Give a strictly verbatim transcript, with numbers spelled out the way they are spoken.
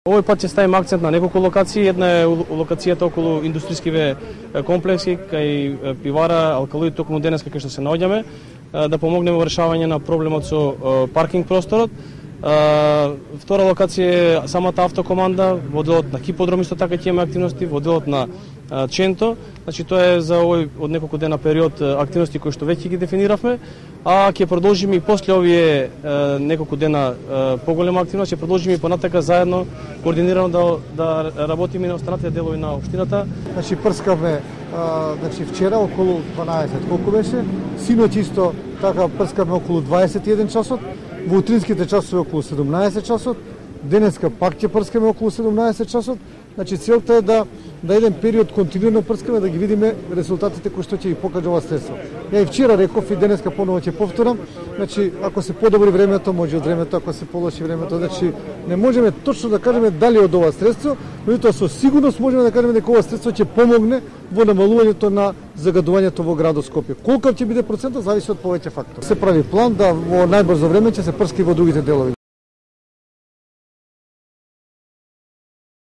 Овој пат ќе ставиме акцент на неколку локации. Една е локацијата околу индустријскиве комплекси, кај пивара, алкалоид, токму денеска кај што се наоѓаме, да помогнеме во решавање на проблемот со паркинг просторот. Втора локација е самата автокоманда, во делот на Киподром исто така ќе имаме активности, во делот на Ченто. Значи тоа е за овој од неколку дена период активности кои што веќе ги дефиниравме, а ќе продолжиме и после овие неколку дена поголема активност, ќе продолжиме и понатака заедно координирано да да работиме на останатите делови на општината. Значи прскавме значи вчера околу дванаесет, колку беше? Синоќ исто така прскавме околу дваесет и еден часот, во утринските часови околу седумнаесет часот, денеска пак ќе прскаме околу седумнаесет часот. Значи целта е да да еден период континуирано прскаме, да ги видиме резултатите кои што ќе ги покаже ова средство. Ја и вчера реков и денеска поново ќе повторам, значи ако се подобри времето, може од времето, ако се полоши времето, значи не можеме точно да кажеме дали од ова средство, меѓутоа со сигурност можеме да кажеме дека ова средство ќе помогне во намалувањето на загадувањето во градот Скопје. Колку ќе биде процентот зависи од повеќе фактори. Се прави план да во најбрзо време ќе се прски во другите делови.